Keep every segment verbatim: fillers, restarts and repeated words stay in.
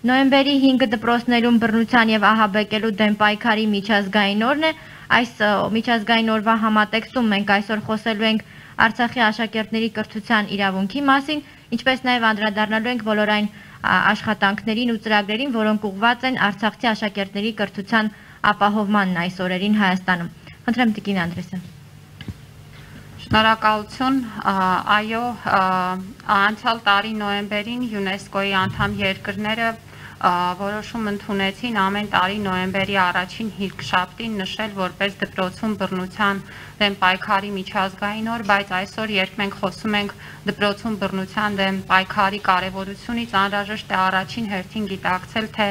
Նոյեմբերի հինգը դպրոցներում բռնության եւ ահաբեկելու դեմ պայքարի միջազգային օրն է։ Այս միջազգային օրվա համատեքստում մենք այսօր խոսելու ենք Արցախի աշակերտների կրթության իրավունքի մասին, ինչպես նաեւ անդրադառնալու ենք բոլոր այն աշխատանքներին ու ծրագրերին, որոնք ուղղված են արցախցի աշակերտների կրթության ապահովմանն այս օրերին Հայաստանում։ Խնդրեմ Տիկին Անդրեսյան։ Շնորհակալություն, այո, անցյալ տարի նոյեմբերին ՅՈՒՆԵՍԿՕ-ի անդամ երկրները որոշում ընդունեցին ամեն տարի նոյեմբերի առաջին հինգշաբթին նշել որպես դպրոցում բռնության դեմ պայքարի միջազգային օր, բայց այսօր երբ մենք խոսում ենք դպրոցում բռնության դեմ պայքարի կարևորությունից, անհրաժեշտ է առաջին հերթին գիտակցել, թե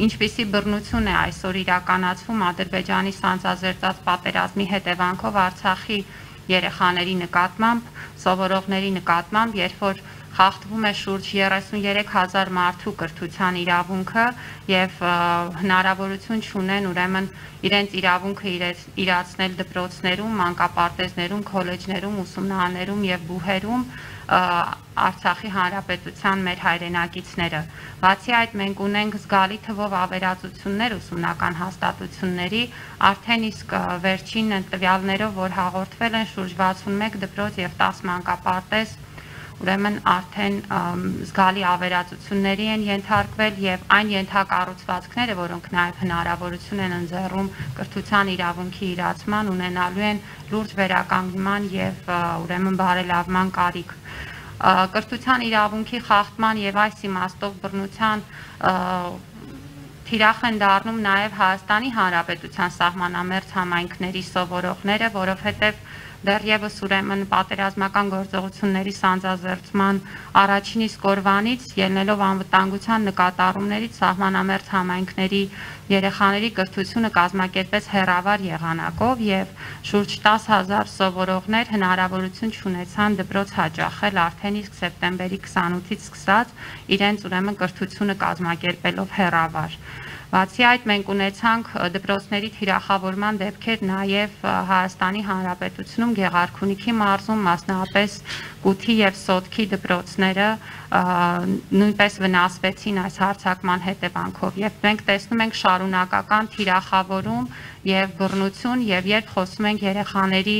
ինչպիսի բռնություն է այսօր իրականացվում Ադրբեջանի սանձազերծած պատերազմի հետևանքով Արցախի երեխաների նկատմամբ, սովորողների նկատմամբ, երբ որ խախտվում է շուրջ երեսունյերեք հազար մարդու կրթության իրավունքը եւ հնարավորություն չունեն ուրեմն իրենց իրավունքը իրացնել դպրոցներում, մանկապարտեզներում, քոլեջներում, ուսումնարաններում եւ բուհերում Արցախի հանրապետության մեր հայրենակիցները։ Բացի այդ մենք ունենք զգալի թվով ավերածություններ ուսումնական հաստատությունների, արդեն իսկ վերջին տվյալներով, որ հաղորդվել են շուրջ վաթսունմեկ դպրոց եւ տասը մանկապարտեզ ուրեմն արդեն զգալի ավերածությունների են ենթարկվել եւ այն ենթակառուցվածքները, որոնք նաեւ հնարավորություն են ընձեռում կրթության իրավունքի իրացման, ունենալու են լուրջ վերականգնման եւ ուրեմն բարելավման կարիք։ Կրթության իրավունքի խախտման եւ այս իմաստով բռնության թիրախ են դառնում նաեւ Հայաստանի Հանրապետության սահմանամերձ համայնքների սովորողները, որովհետեւ դեռևս ուրեմն պատերազմական գործողությունների սանձազերծման առաջին իսկ օրվանից ելնելով անվտանգության նկատառումներից սահմանամերձ համայնքների երեխաների կրթությունը կազմակերպեց հեռավար եղանակով եւ շուրջ տասը հազար սովորողներ հնարավորություն չունեցան դպրոց հաճախել արդեն իսկ սեպտեմբերի քսանութից սկսած իրենց ուրեմն կրթությունը կազմակերպելով հեռավար։ Բացի այդ մենք ունեցանք դպրոցների թիրախավորման դեպքեր նաև Հայաստանի Հանրապետությունում Գեղարքունիքի մարզում, մասնավորապես Կութի եւ Սոտքի դպրոցները նույնպես վնասվեցին այս հարձակման հետևանքով եւ մենք տեսնում ենք շարունակական թիրախավորում եւ բռնություն եւ երբ խոսում ենք երեխաների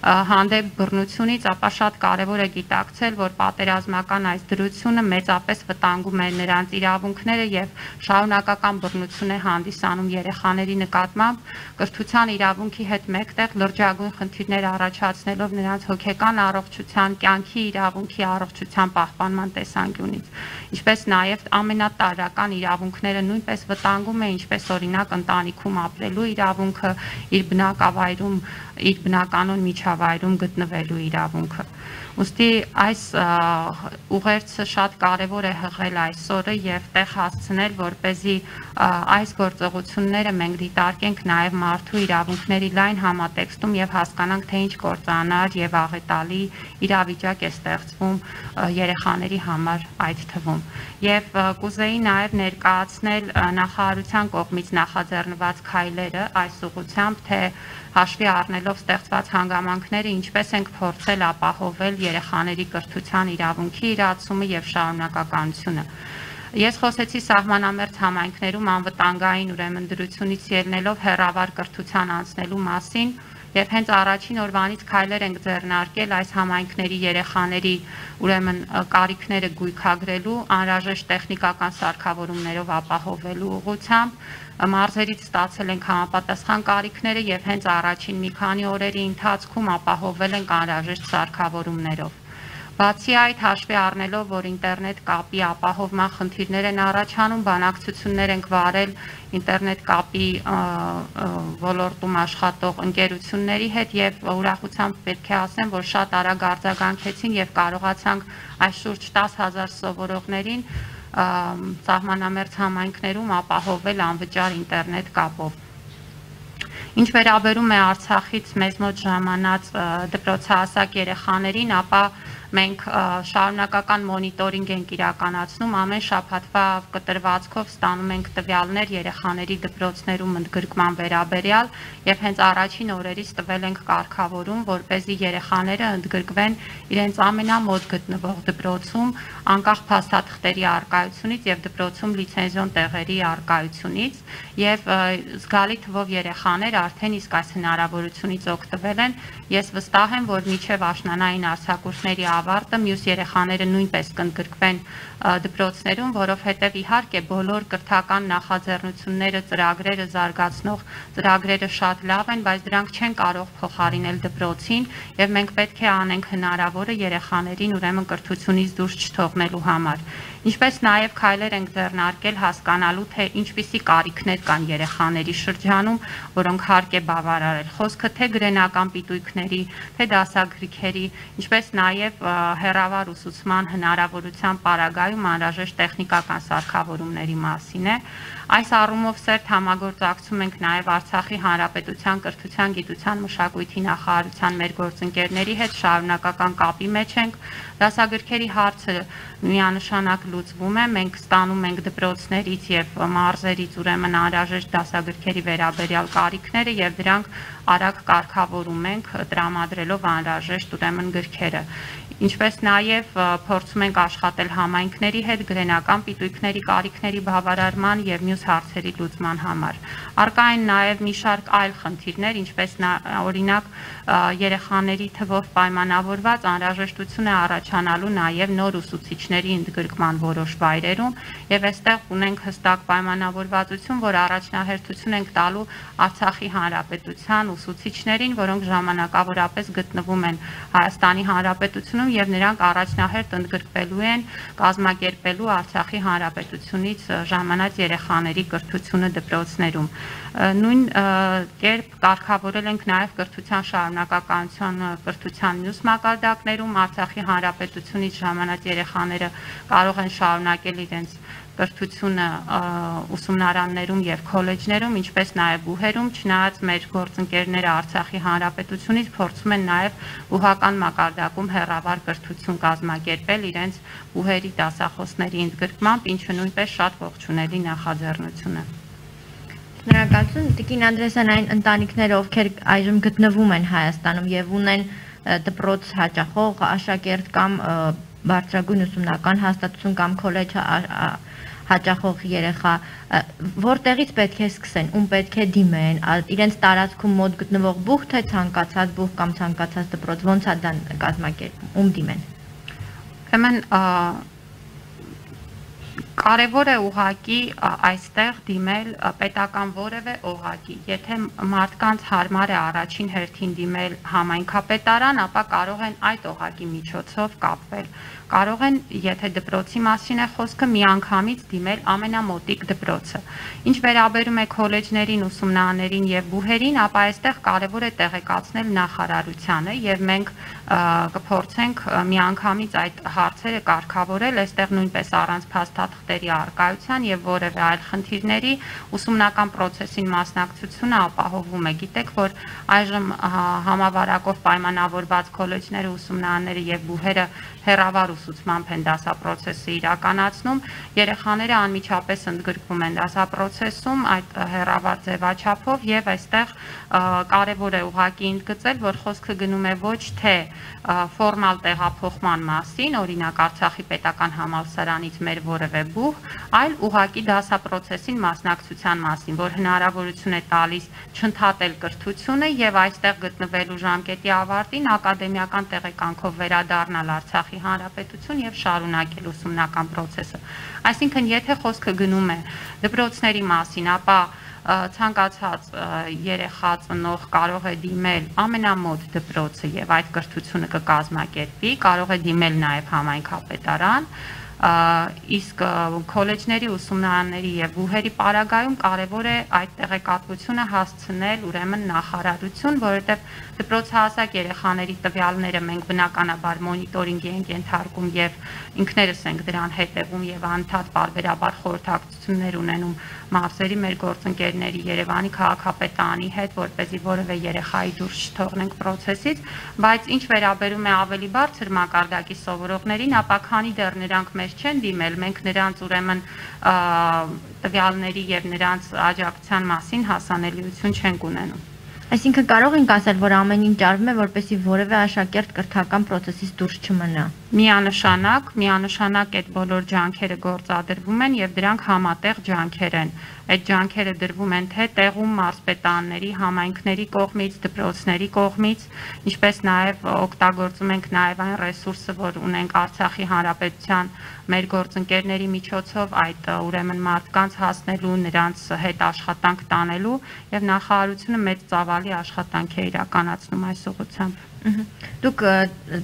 հանդեպ բռնությունից, ապա շատ կարեւոր է գիտակցել, որ պատերազմական այս դրությունը մեծապես վտանգում է նրանց իրավունքները եւ շարունակական բռնություն է հանդիսանում երեխաների նկատմամբ կրթության իրավունքի հետ մեկտեղ լրջագույն խնդիրներ առաջացնելով նրանց հոգեկան առողջության, կյանքի իրավունքի առողջության պահպանման տեսանկյունից, ինչպես նաեւ ամենատարրական իրավունքները նույնպես վտանգում է, ինչպես օրինակ ընտանիքում ապրելու իրավունքը, իր բնակավայրում, իր բնականon միջավայրում գտնվելու իրավունքը։ Ուստի այս ուղերձը շատ կարևոր է հղել այսօրը եւ տեղ հասցնել, որպեսզի այս գործողությունները մենք դիտարկենք նաեւ մարդու իրավունքների լայն համատեքստում եւ հասկանանք, թե ինչ կործանար եւ աղետալի իրավիճակ է ստեղծվում երեխաների համար այդ թվում։ Եվ կուզեի նաեւ ներկայացնել նախարարության կողմից նախաձեռնված քայլերը այս ուղղությամբ, թե հաշվի առնելով ստեղծված հանգամանքները, ինչպես ենք փորձել ապահովել երեխաների կրթության իրավունքի իրացումը եւ շարունակականությունը։ Ես խոսեցի սահմանամերձ համայնքներում անվտանգային ուրեմն դրությունից ելնելով հեռավար կրթության անցնելու մասին եւ հենց առաջին օրվանից քայլեր ենք ձեռնարկել այս համայնքների երեխաների ուրեմն կարիքները գույքագրելու, անհրաժեշտ տեխնիկական սարքավորումներով ապահովելու ուղղությամբ մարզերից ստացել ենք համապատասխան կարիքները եւ հենց առաջին մի քանի օրերի ընթացքում ապահովել ենք անհրաժեշտ սարքավորումներով։ Բացի այդ, հաշվի առնելով, որ ինտերնետ կապի ապահովման խնդիրներ են առաջանում, բանակցություններ ենք վարել ինտերնետ կապի ոլորտում աշխատող ընկերությունների հետ եւ ուրախությամբ պետք է ասեմ, որ շատ արագ արձագանքեցին եւ կարողացանք այս շուրջ տասը հազար սովորողներին սահմանամերձ համայնքներում ապահովել անվճար ինտերնետ կապով։ Ինչ վերաբերում է Արցախից մեզ մոտ ժամանած դպրոցահասակ երեխաներին, ապա մենք շարունակական մոնիտորինգ ենք իրականացնում, ամեն շաբաթվա կտրվածքով ստանում ենք տվյալներ երեխաների դպրոցներում ընդգրկման վերաբերյալ եւ հենց առաջին օրերից տվել ենք կարգավորում, որպեսզի երեխաները ընդգրկվեն իրենց ամենամոտ գտնվող դպրոցում, անկախ փաստաթղթերի առկայությունից եւ դպրոցում լիցենզիոն տեղերի առկայությունից եւ զգալի թվով երեխաներ արդեն իսկ այս հնարավորությունից օգտվել են։ Ես վստահ եմ, որ մինչև աշնանային արձակուրդների ավարտը մյուս երեխաները նույնպես կընդգրկվեն դպրոցներում, որովհետև իհարկե բոլոր կրթական նախաձեռնությունները, ծրագրերը զարգացնող ծրագրերը շատ լավ են, բայց դրանք չեն կարող փոխարինել դպրոցին եւ մենք պետք է անենք հնարավորը երեխաներին ուրեմն կրթությունից դուրս չթողնելու համար։ Ինչպես նաև քայլեր ենք ձեռնարկել հասկանալու, թե ինչպիսի կարիքներ կան երեխաների շրջանում, որոնք հարկ է բավարարել։ Խոսքը թե գրենական պիտույքների, թե դասագրքերի, ինչպես նաև հեռավար ուսուցման հնարավորության պարագայում անհրաժեշտ տեխնիկական սարքավորումների մասին է։ Այս առումով սերտ համագործակցում ենք նաև Արցախի Հանրապետության կրթության, գիտության, մշակույթի նախարարության մեր գործընկերների հետ շարունակական կապի մեջ ենք։ Դասագրքերի հարցը միանշանակ լուծվում է, մենք ստանում ենք դպրոցներից եւ մարզերից ուրեմն անհրաժեշտ դասագրքերի վերաբերյալ կարիքները եւ դրանք արագ կարգավորում ենք, տրամադրելով անհրաժեշտ ուրեմն գրքերը։ Ինչպես նաև փորձում ենք աշխատել համայնքների հետ գրենական պիտույքների կարիքների բավարարման եւ մյուս հարցերի լուծման համար։ Առկա են նաև մի շարք այլ խնդիրներ, ինչպես օրինակ երեխաների թվով պայմանավորված անհրաժեշտություն է առաջանալու նաև նոր ուսուցիչների ընդգրկման որոշ վայրերում եւ այստեղ ունենք հստակ պայմանավորվածություն, որ առաջնահերթություն ենք տալու Արցախի Հանրապետության ուսուցիչներին, որոնք ժամանակավորապես գտնվում են Հայաստանի Հանրապետությունում եւ նրանք առաջնահերթ ընդգրկվելու են կազմակերպելու Արցախի Հանրապետությունից ժամանած երեխաների կրթությունը դպրոցներում։ Նույն կերպ կարգավորել ենք նաև կրթության շարունակականության կրթության մյուս մակարդակներում Արցախի Հանրապետությունից ժամանած երեխաները կարող են շարունակել իրենց կրթությունը ուսումնարաններում եւ քոլեջներում, ինչպես նաև բուհերում, չնայած մեր գործընկերները Արցախի Հանրապետությունից փորձում են նաև բուհական մակարդակում հեռավար կրթություն կազմակերպել իրենց բուհերի դասախոսների ընդգրկմամբ, ինչը նույնպես շատ ողջունելի նախաձեռնություն է։ Շնորհակալություն, Տիկին Անդրեասյան, այն ընտանիքները, ովքեր այժմ գտնվում են Հայաստանում եւ ունեն դպրոց հաճախող աշակերտ կամ բարձրագույն ուսումնական հաստատություն կամ քոլեջ հաճախող երեխա, որտեղից պետք է սկսեն, ում պետք է դիմեն, իրենց տարածքում մոտ գտնվող բուհ, թե ցանկացած բուհ կամ ցանկացած դպրոց, ոնց է դա կազմակերպում, ում դիմեն։ Ուրեմն կարևոր է ուղղակի այստեղ դիմել պետական որևէ օղակի։ Եթե մարդկանց հարմար է առաջին հերթին դիմել համայնքապետարան, ապա կարող են այդ օղակի միջոցով կապվել։ Կարող են, եթե դպրոցի մասին է խոսքը, միանգամից դիմել ամենամոտիկ դպրոցը։ Ինչ վերաբերում է քոլեջներին, ուսումնարաններին եւ բուհերին, ապա այստեղ կարևոր է տեղեկացնել նախարարությանը եւ մենք կփորձենք միանգամից այդ հարցերը կարգավորել, այստեղ նույնպես առանց փաստաթղթերի առկայության եւ որևէ այլ խնդիրների ուսումնական process-ին մասնակցությունը ապահովում է։ Գիտեք, որ այժմ համավարակով պայմանավորված քոլեջները, ուսումնարանները եւ բուհերը հեռավար ուսուցմամբ են դասապրոցեսը իրականացնում, երեխաները անմիջապես ընդգրկվում են դասապրոցեսում այդ հեռավար ձևաչափով եւ այստեղ կարեւոր է ուղղակի ընդգծել, որ խոսքը գնում է ոչ թե ֆորմալ տեղափոխման մասին, օրինակ Արցախի պետական համալսարանից մեր որևէ բուհ, այլ ուղղակի դասապրոցեսին մասնակցության մասին, որ հնարավորություն է տալիս չընդհատել կրթությունը եւ այստեղ գտնվելու ժամկետի ավարտին ակադեմիական տեղեկանքով վերադառնալ Արցախի Հանրապետություն եւ շարունակել ուսումնական process-ը։ Այսինքն, եթե խոսքը գնում է դպրոցների մասին, ապա ցանկացած երեխա ծնող կարող է դիմել ամենամոտ դպրոցը եւ այդ կրթությունը կկազմակերպի, կարող է դիմել նաեւ համայնքապետարան, իսկ քոլեջների, ուսումնարանների եւ բուհերի պարագայում կարեւոր է այդ տեղեկատվությունը հասցնել ուրեմն նախարարություն, որովհետեւ դպրոցահասակ երեխաների տվյալները մենք բնականաբար մոնիտորինգի ենք ենթարկում եւ ինքներս ենք դրան հետևում եւ անդադ բարբերաբար խորհրդակցություններ ունենում մարզերի մեր գործընկերների Երևանի քաղաքապետարանի հետ, որպեսզի որևէ երեխայի դուրս չթողնենք process-ից, բայց ինչ վերաբերում է ավելի բարձր մակարդակի սովորողներին, ապա քանի դեռ նրանք մեզ չեն դիմել, մենք նրանց ուրեմն տվյալների եւ նրանց աջակցության մասին հասանելիություն չենք ունենում։ Այսինքն կարող ենք ասել, որ ամեն ինչ արվում է, որպեսզի որևէ աշակերտ կրթական process-ից դուրս չմնա։ Միանշանակ, միանշանակ այդ բոլոր ջանքերը գործադրվում են եւ դրանք համատեղ ջանքեր են։ Այդ ջանքերը դրվում են թե տեղում մարզպետանների, համայնքների կողմից, դպրոցների կողմից, ինչպես նաեւ օգտագործում ենք նաեւ այն ռեսուրսը, որ ունենք Արցախի Հանրապետության մեր գործընկերների միջոցով այդ ուրեմն մարդկանց հասնելու, նրանց հետ աշխատանք տանելու եւ նախարարությունը մեծ ծավալի աշխատանք է իրականացնում այս ուղղությամբ։ Դուք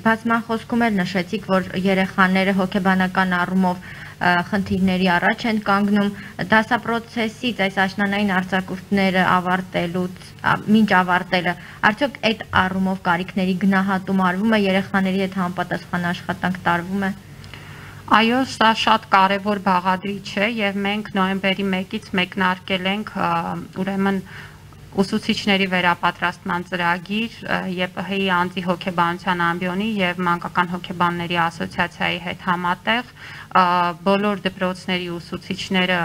բացման խոսքում էլ նշեցիք, որ երեխաները հոգեբանական առումով խնդիրների առաջ են կանգնում, դասապրոցեսից այս աշնանային արձակուրդները ավարտելուց, մինչ ավարտելը, արդյոք այդ առումով կարիքների գնահատում արվում է, երեխաների հետ համապատասխան աշխատանք տարվում է։ Այո, սա շատ կարևոր բաղադրիչ է եւ մենք նոյեմբերի մեկից մեկնարկել ենք ուրեմն ուսուցիչների վերապատրաստման ծրագիր ԵՊՀ-ի անձի հոգեբանության ամբիոնի եւ մանկական հոգեբանների ասոցիացիայի հետ համատեղ բոլոր դպրոցների ուսուցիչները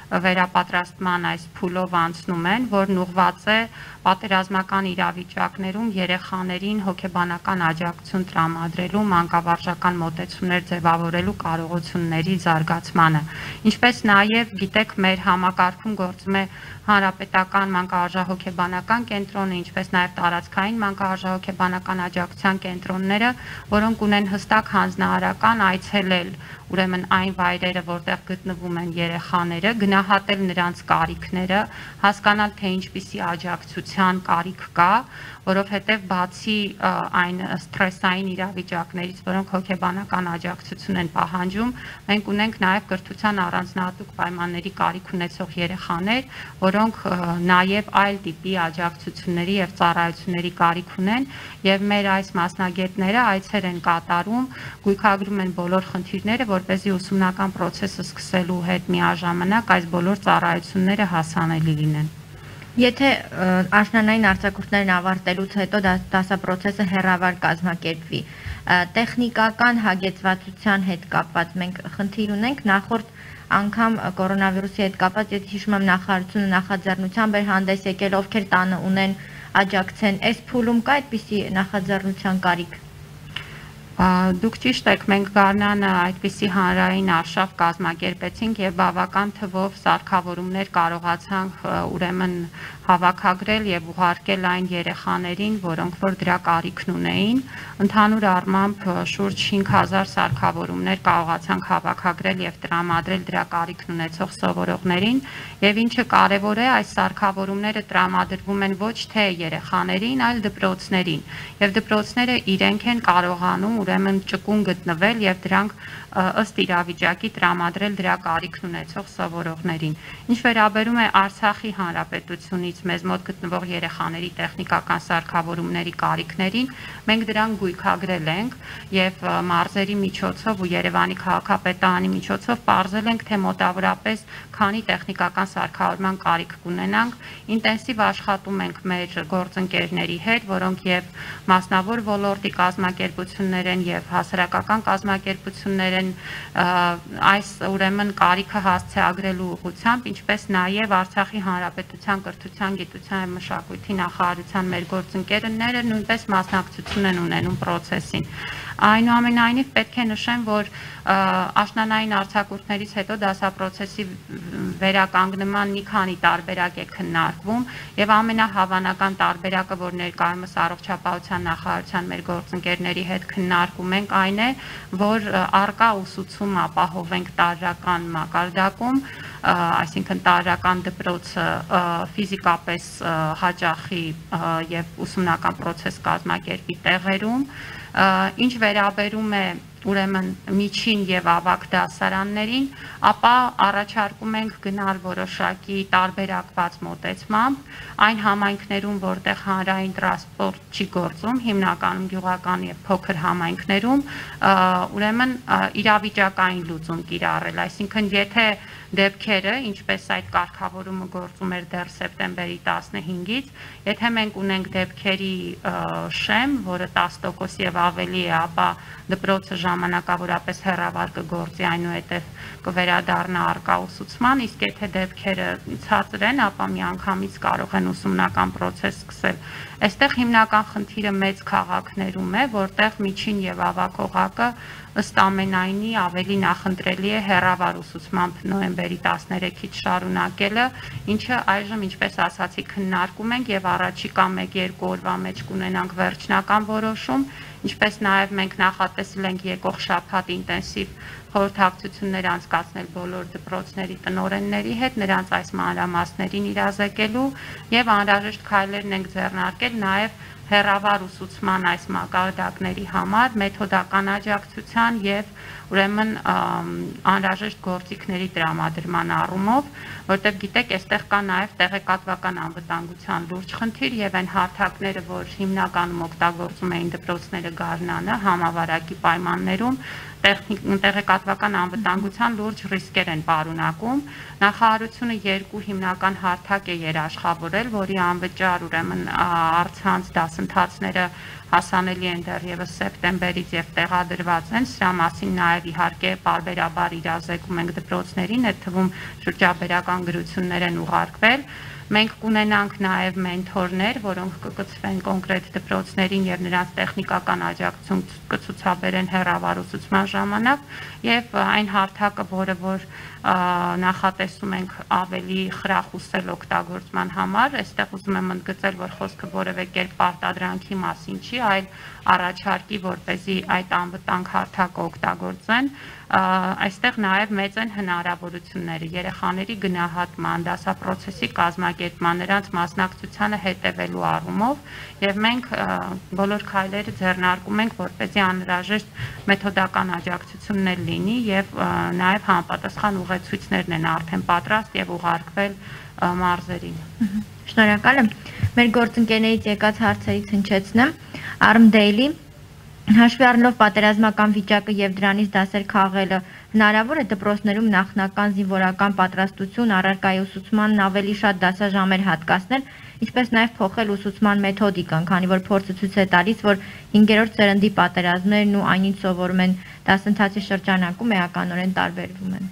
վերապատրաստման այս փուլով անցնում են, որն ուղղված է պատերազմական իրավիճակներում երեխաներին հոգեբանական աջակցություն տրամադրելու, մանկավարժական մոտեցումներ ձևավորելու կարողությունների զարգացմանը։ Ինչպես նաև գիտեք, մեր համակարգում գործում է հանրապետական մանկավարժահոգեբանական կենտրոնը, ինչպես նաև տարածքային մանկավարժահոգեբանական աջակցության կենտրոնները, որոնք ունեն հստակ հանձնարարական այցելել ուրեմն այն վայրերը, որտեղ գտնվում են երեխաները, գնահատել նրանց կարիքները, հասկանալ, թե ինչպիսի աջակցության կարիք կա, որովհետև բացի այն սթրեսային իրավիճակներից, որոնք հոգեբանական աջակցություն են պահանջում, մենք ունենք նաև կրթության առանձնահատուկ պայմանների կարիք ունեցող երեխաներ, որոնք նաև այլ տիպի աջակցությունների եւ ծառայությունների կարիք ունեն, եւ մեր այս մասնագետները այցեր են կատարում, գույքագրում են բոլոր խնդիրները, որպեսզի ուսումնական process-ը սկսելու հետ միաժամանակ այս բոլոր ծառայությունները հասանելի լինեն։ Եթե աշնանային արձակուրդներն ավարտելուց հետո դասապրոցեսը հեռավար կազմակերպվի, տեխնիկական հագեցվածության հետ կապված մենք խնդիր ունենք, նախորդ անգամ կորոնավիրուսի հետ կապված, եթե հիշում եմ, նախարարությունը նախաձեռնությամբ էր հանդես եկել, ովքեր տանը ունեն աջակցեն, այս փուլում կա այդպիսի նախաձեռնության կարիք։ Դուք ճիշտ եք, մենք Գառնանը այդպիսի հանրային արշավ կազմակերպեցինք եւ բավական թվով սարքավորումներ կարողացանք ուրեմն հավաքագրել եւ ուղարկել այն երեխաներին, որոնք որ դրա կարիքն ունեին։ Ընդհանուր առմամբ շուրջ հինգ հազար սարքավորումներ կարողացանք հավաքագրել եւ տրամադրել դրա կարիքն ունեցող սովորողներին, եւ ինչը կարեւոր է, այս սարքավորումները տրամադրվում են ոչ թե երեխաներին, այլ դպրոցներին, եւ դպրոցները իրենք են կարողանում ուրեմն ճկուն գտնվել եւ դրանք ըստ իրավիճակի տրամադրել դրա կարիքն ունեցող սովորողներին։ Ինչ վերաբերում է Արցախի Հանրապետությունից մեզ մոտ գտնվող երեխաների տեխնիկական սարքավորումների կարիքներին, մենք դրան գույքագրել ենք եւ մարզերի միջոցով ու Երևանի քաղաքապետարանի միջոցով պարզել ենք, թե մոտավորապես քանի տեխնիկական սարքավորման կարիք կունենանք։ Ինտենսիվ աշխատում ենք մեր գործընկերների հետ, որոնք եւ մասնավոր ոլորտի կազմակերպություններ են եւ հասարակական կազմակերպություններ են այս ուրեմն կարիքը հասցեագրելու ուղղությամբ, ինչպես նաև Արցախի Հանրապետության կրթության, գիտության եւ մշակույթի նախարարության մեր գործընկերները նույնպես մասնակցություն են ունենում process-ին։ Այնուամենայնիվ պետք է նշեմ, որ աշնանային արձակուրդներից հետո դասապրոցեսի վերականգնման մի քանի տարբերակ է քննարկվում եւ ամենահավանական տարբերակը, որ ներկայումս առողջապահության նախարարության մեր գործընկերների հետ քննարկում ենք, այն է, որ առկա ուսուցում ապահովենք տարրական մակարդակում, այսինքն տարրական դպրոցը ֆիզիկապես հաճախի եւ ուսումնական process կազմակերպի տեղերում, ինչ վերաբերում է ուրեմն միջին եւ ավագ դասարաններին, ապա առաջարկում ենք գնալ որոշակի տարբերակված մոտեցմամբ այն համայնքներում, որտեղ հանրային տրանսպորտ չի գործում, հիմնականում գյուղական եւ փոքր համայնքներում, ուրեմն իրավիճակային լուծում կիրառել, այսինքն եթե դեպքերը, ինչպես այդ կարգավորումը գործում էր դեռ սեպտեմբերի տասնհինգից, եթե մենք ունենք դեպքերի շեմ, որը տասը տոկոս եւ ավելի է, ապա դպրոցը ժամանակավորապես հեռավար կգործի, այնուհետև կվերադառնա առկա ուսուցման, իսկ եթե դեպքերը ցածր են, ապա միանգամից կարող են ուսումնական process սկսել։ Այստեղ հիմնական խնդիրը մեծ քաղաքներում է, որտեղ միջին եւ ավագ օղակը ըստ ամենայնի ավելի նախընտրելի է հեռավար ուսուցմամբ նոյեմբերի տասներեքից շարունակելը, ինչը այժմ, ինչպես ասացի, քննարկում ենք եւ առաջիկա մեկ-երկու օրվա մեջ կունենանք վերջնական որոշում, ինչպես նաեւ մենք նախատեսել ենք եկող շաբաթ ինտենսիվ խորհրդակցություններ անցկացնել բոլոր դպրոցների տնօրենների հետ, նրանց այս մանրամասներին իրազեկելու եւ անհրաժեշտ քայլերն ենք ձեռնարկել նաեւ հեռավար ուսուցման այս մակարդակների համար մեթոդական աջակցության եւ ուրեմն անհրաժեշտ գործիքների տրամադրման առումով, որտեղ գիտեք, այստեղ կա նաեւ տեղեկատվական անվտանգության լուրջ խնդիր եւ այն հարթակները, որ հիմնականում օգտագործում էին դպրոցները գարնանը համավարակի պայմաններում, տեղեկատվական անվտանգության լուրջ ռիսկեր են պարունակում։ Նախարարությունը երկու հիմնական հարթակ է երաշխավորել, որի անվճար ուրեմն առցանց դասընթացները հասանելի են դեռևս սեպտեմբերից եւ տեղադրված են, սրա մասին նաեւ իհարկե պարբերաբար իրազեկում ենք դպրոցներին, այդ թվում շրջաբերական գրություններ են ուղարկվել։ Մենք կունենանք նաև մենթորներ, որոնք կկցվեն կոնկրետ դպրոցներին եւ նրանց տեխնիկական աջակցություն կցուցաբերեն հեռավար ուսուցման ժամանակ եւ այն հարթակը, որը որ նախատեսում ենք ավելի խրախուսել օգտագործման համար, այստեղ ուզում եմ ընդգծել, որ խոսքը որևէ կերպ պարտադրանքի մասին չի, այլ առաջարկի, որպեսզի այդ անվտանգ հարթակը օգտագործեն, այստեղ նաև մեծ են հնարավորությունները երեխաների գնահատման, դասապրոցեսի կազմակերպման, նրանց մասնակցությանը հետևելու առումով եւ մենք բոլոր քայլերը ձեռնարկում ենք, որպեսզի անհրաժեշտ մեթոդական աջակցություններ լինի եւ նաեւ համապատասխան ուղեցույցներն են արդեն պատրաստ եւ ուղարկվել մարզերին։ Շնորհակալ եմ։ Մեր գործընկերներից եկած հարցերից հնչեցնեմ Arm Daily հաշվի առնելով պատերազմական վիճակը եւ դրանից դասեր քաղելը հնարավոր է դպրոցներում նախնական զինվորական պատրաստություն առարկայի ուսուցմանն ավելի շատ դասաժամեր հատկացնել, ինչպես նաեւ փոխել ուսուցման մեթոդիկան, քանի որ փորձը ցույց է տալիս, որ հինգերորդ սերնդի պատերազմներն ու այն ինչ սովորում են դասընթացի շրջանակում էականորեն տարբերվում են։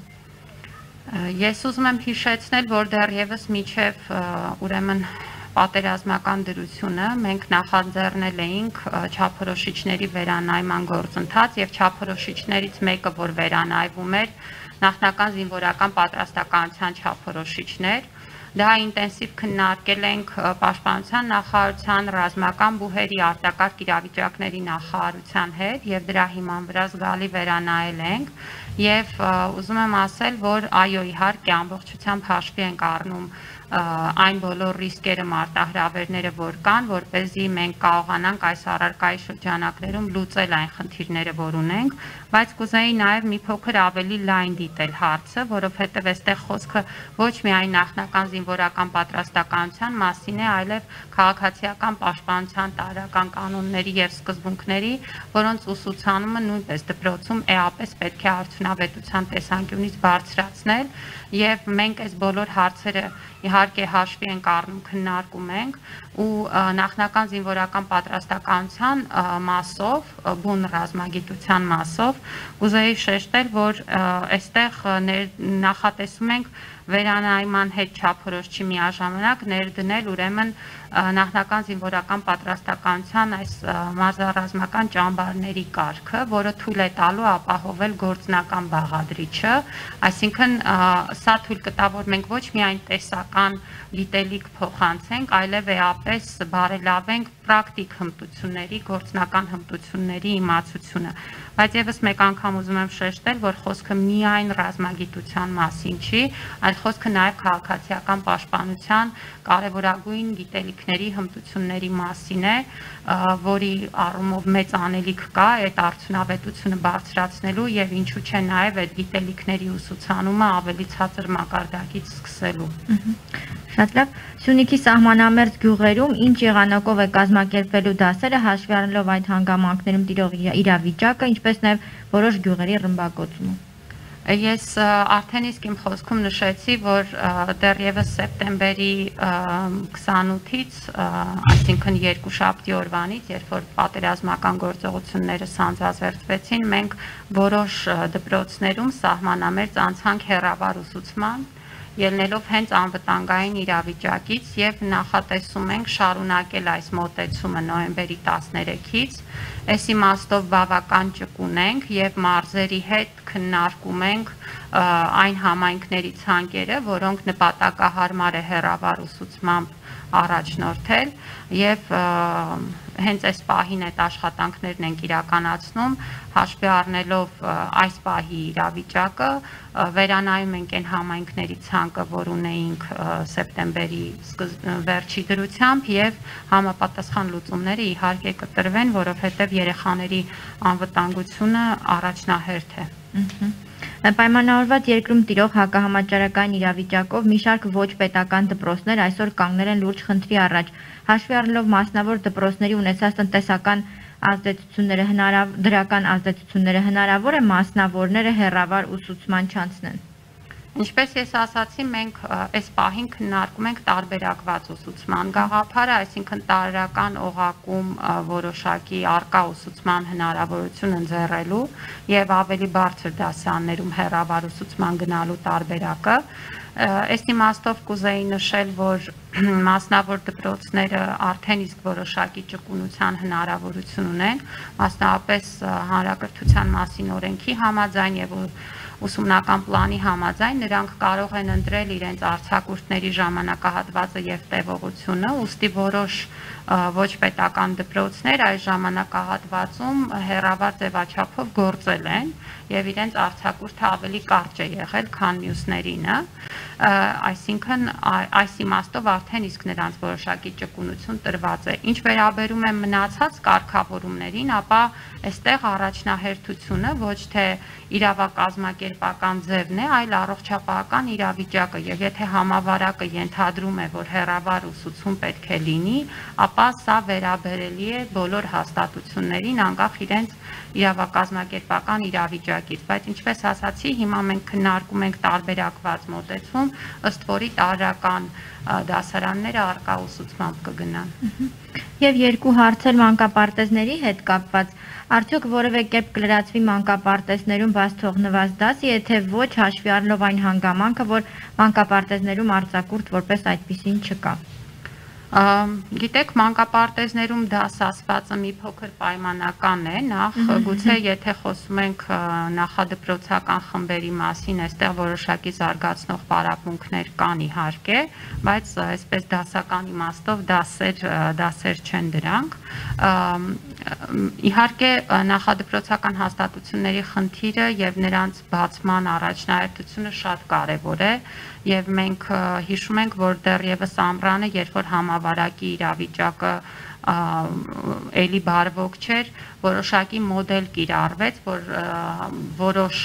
Ես ուզում եմ հիշեցնել, որ դեռևս միջև ուրեմն պատերազմական դրությունը մենք նախաձեռնել էինք չափորոշիչների վերանայման գործընթաց եւ չափորոշիչներից մեկը, որ վերանայվում էր, նախնական զինվորական պատրաստականության չափորոշիչներ։ Դա ինտենսիվ քննարկել ենք Պաշտպանության նախարարության, ռազմական բուհերի, արտակարգ իրավիճակների նախարարության հետ եւ դրա հիման վրա զգալի վերանայել ենք եւ ուզում եմ ասել, որ այո, իհարկե ամբողջությամբ հաշվի ենք առնում այն բոլոր ռիսկերը, մարտահրավերները, որ կան, որպեսզի մենք կարողանանք այս առարկայի շրջանակներում լուծել այն խնդիրները, որ ունենք, բայց կուզեի նաև մի փոքր ավելի լայն դիտել հարցը, որովհետև այստեղ խոսքը ոչ միայն նախնական զինվորական պատրաստականության մասին է, այլև քաղաքացիական պաշտպանության տարրական կանոնների եւ սկզբունքների, որոնց ուսուցանումը նույնպես դպրոցում էապես պետք է արդյունավետության տեսանկյունից բարձրացնել եւ մենք այս բոլոր հարցերը իհարկե հաշվի ենք առնում, քննարկում ենք ու նախնական զինվորական պատրաստականության մասով, բուն ռազմագիտության մասով ուզեի շեշտել, որ այստեղ նախատեսում ենք վերանայման հետ չափորոշչի միաժամանակ ներդնել ուրեմն նախնական զինվորական պատրաստականության այս մարզառազմական ճամբարների կարգը, որը թույլ է տալու ապահովել գործնական բաղադրիչը, այսինքն սա թույլ կտա, որ մենք ոչ միայն տեսական գիտելիք փոխանցենք, այլև էապես բարելավենք պրակտիկ հմտությունների, գործնական հմտությունների իմացությունը, բայց եւս մեկ անգամ ուզում եմ շեշտել, որ խոսքը միայն ռազմագիտության մասին չի, այլ խոսքը նաեւ քաղաքացիական պաշտպանության կարևորագույն գիտելիքների, հմտությունների մասին է, որի առումով մեծ անելիք կա այդ արդյունավետությունը բարձրացնելու եւ ինչու՞ չէ նաեւ այդ գիտելիքների ուսուցանումը ավելի ցածր մակարդակից սկսելու։ Շատ լավ, Սյունիքի սահմանամերձ գյուղերում ինչ եղանակով է կազմակերպվելու դասերը, հաշվի առնելով այդ հանգամանքներում տիրող իրավիճակը, ինչպես նաև որոշ գյուղերի ռմբակոծումը։ Ես արդեն իսկ իմ խոսքում նշեցի, որ դեռևս սեպտեմբերի քսանութից, այսինքն երկուշաբթի օրվանից, երբ որ պատերազմական գործողությունները սանձազերծվեցին, մենք որոշ դպրոցներում սահմանամերձ անցանք հեռավար ուսուցման, ելնելով հենց անվտանգային իրավիճակից եւ նախատեսում ենք շարունակել այս մոտեցումը նոյեմբերի տասներեքից, այս իմաստով բավական ճկուն ենք եւ մարզերի հետ քննարկում ենք այն համայնքների ցանկերը, որոնք նպատակահարմար է հեռավար ուսուցմամբ առաջնորդել եւ հենց այս պահին այդ աշխատանքներն ենք իրականացնում, հաշվի առնելով այս պահի իրավիճակը, վերանայում ենք այն համայնքների ցանկը, որ ունեինք սեպտեմբերի վերջի դրությամբ եւ համապատասխան լուծումները իհարկե կտրվեն, որովհետեւ երեխաների անվտանգությունը առաջնահերթ է։ Պայմանավորված երկրում տիրող հակահամաճարակային իրավիճակով մի շարք ոչ պետական դպրոցներ այսօր կանգնել են լուրջ խնդրի առաջ, հաշվի առնելով մասնավոր դպրոցների ունեցած տնտեսական ազդեցությունները, դրական ազդեցությունները, հնարավոր է մասնավորները հեռավար ուսուցման չանցնեն։ Ինչպես ես ասացի, մենք այս պահին քննարկում ենք տարբերակված ուսուցման գաղափարը, այսինքն տարրական օղակում որոշակի արկա ուսուցման հնարավորություն ընձեռելու եւ ավելի բարձր դասարաններում հեռավար ուսուցման գնալու տարբերակը։ Այս իմաստով կուզեի նշել, որ մասնավոր դպրոցները արդեն իսկ որոշակի ճկունության հնարավորություն ունեն, մասնավորապես հանրակրթության մասին օրենքի համաձայն եւ ուսումնական պլանի համաձայն նրանք կարող են ընտրել իրենց արձակուրդների ժամանակահատվածը եւ տևողությունը, ուստի որոշ ոչ պետական դպրոցներ այս ժամանակահատվածում հեռավար ձևաչափով գործել են եւ իրենց արձակուրդը ավելի կարճ է եղել, քան մյուսներինը, այսինքն այս իմաստով արդեն իսկ նրանց որոշակի ճկունություն տրված է։ Ինչ վերաբերում է մնացած կարգավորումներին, ապա այստեղ առաջնահերթությունը ոչ թե իրավակազմակերպական ձևն է, այլ առողջապահական իրավիճակը, եւ եթե համավարակը ենթադրում է, որ հեռավար ուսուցում պետք է լինի, ապա սա վերաբերելի է բոլոր հաստատություններին, անկախ իրենց իրավակազմակերպական իրավիճակից, բայց ինչպես ասացի, հիմա մենք քննարկում ենք տարբերակված մոտեցում, ըստ որի տարրական դասարանները արկա ուսուցմամբ կգնան։ Եվ երկու հարց էլ մանկապարտեզների հետ կապված, արդյոք որևէ կերպ կլրացվի մանկապարտեզներում բաց թողնված դասը, եթե ոչ հաշվի առնելով այն հանգամանքը, որ մանկապարտեզներում արձակուրդ որպես այդպիսին չկա։ Գիտեք, մանկապարտեզներում դաս ասվածը մի փոքր պայմանական է, նախ գուցե եթե խոսում ենք նախադպրոցական խմբերի մասին, այստեղ որոշակի զարգացնող պարապմունքներ կան իհարկե, բայց այսպես դասական իմաստով դասեր, դասեր չեն դրանք։ Իհարկե նախադպրոցական հաստատությունների խնդիրը եւ նրանց բացման առաջնահերթությունը շատ կարեւոր է եւ մենք հիշում ենք, որ դեռևս ամռանը, երբ որ համավարակի իրավիճակը էլի բարվոք չէր, որոշակի մոդել կիրառվեց, որ որոշ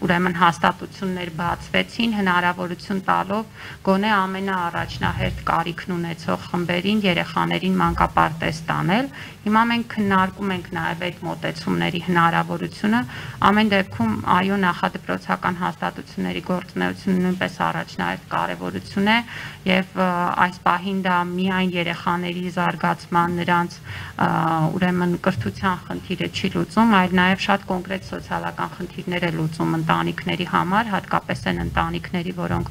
ուրեմն հաստատություններ բացվեցին, հնարավորություն տալով գոնե ամենաառաջնահերթ կարիքն ունեցող խմբերին, երեխաներին մանկապարտեզ տանել։ Հիմա մենք քննարկում ենք նաև այդ մոտեցումների հնարավորությունը, ամեն դեպքում այո, նախադպրոցական հաստատությունների գործունեությունը նույնպես առաջնահերթ կարևորություն է եւ այս պահին դա միայն երեխաների զարգացման, նրանց ուրեմն կրթության խնդիրը չի լուծում, այլ նաև շատ կոնկրետ սոցիալական խնդիրներ է լուծում ընտանիքների համար, հատկապես այն ընտանիքների, որոնք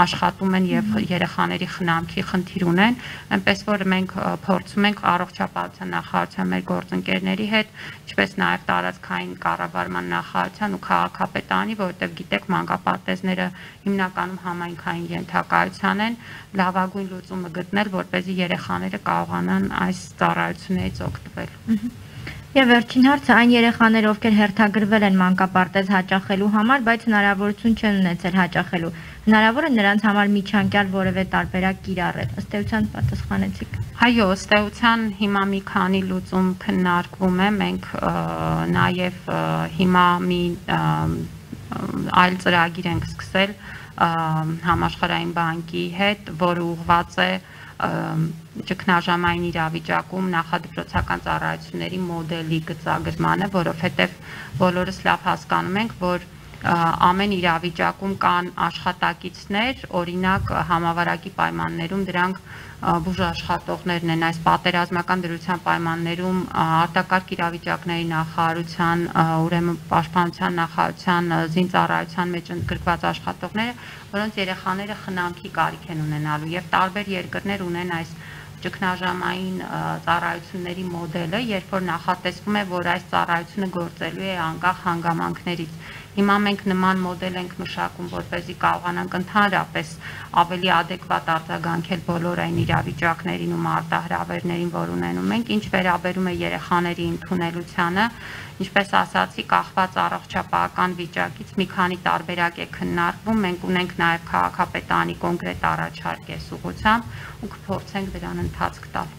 աշխատում են եւ երեխաների խնամքի խնդիր ունեն, այնպես որ մենք փորձում ենք առողջապահության նախարարության մեր գործընկերների հետ, ինչպես նաև տարածքային կառավարման նախարարության ու քաղաքապետարանի, որովհետեւ գիտեք, մանկապարտեզները հիմնականում համայնքային ենթակայության են, լավագույն լուծումը գտնել, որպեսզի երեխաները կարողանան այս ծառայություններից օգտվել։ Եվ վերջին հարցը այն երեխաները, ովքեր հերթագրվել են մանկապարտեզ հաճախելու համար, բայց հնարավորություն չեն ունեցել հաճախելու, հնարավոր է նրանց համար միջանկյալ որևէ տարբերակ կիրառել։ Ըստ էության պատասխանեցիք։ Այո, ըստ էության հիմա մի քանի լուծում քննարկվում է, մենք նաև հիմա մի այլ ծրագիր ենք սկսել համաշխարհային բանկի հետ, որը ուղղված է ճգնաժամային իրավիճակում նախադպրոցական ծառայությունների մոդելի գծագրմանը, որովհետև բոլորս լավ հասկանում ենք, որ ամեն իրավիճակում կան աշխատակիցներ, օրինակ համավարակի պայմաններում դրանք բուժաշխատողներն են, այս պատերազմական դրության պայմաններում արտակարգ իրավիճակների նախարարության, ուրեմն պաշտպանության նախարարության զինծառայության մեջ ընդգրկված աշխատողները, որոնց երեխաները խնամքի կարիք են ունենալու եւ տարբեր երկրներ ունեն այս ճգնաժամային ծառայությունների մոդելը, երբ որ նախատեսվում է, որ այս ծառայությունը գործելու է անկախ հանգամանքներից։ Հիմա մենք նման մոդել ենք մշակում, որպեսզի կարողանանք ընդհանրապես ավելի adekvat արձագանքել բոլոր այն իրավիճակներին ու մարտահրավերներին, որ ունենում ենք, ինչ վերաբերում է երեխաների ընդունելությանը, ինչպես ասացի, կախված առողջապահական վիճակից մի քանի տարբերակ է քննարկվում, մենք ունենք նաև քաղաքապետարանի կոնկրետ առաջարկ այս ուղղությամբ ու կփորձենք դրան ընթացք տալ։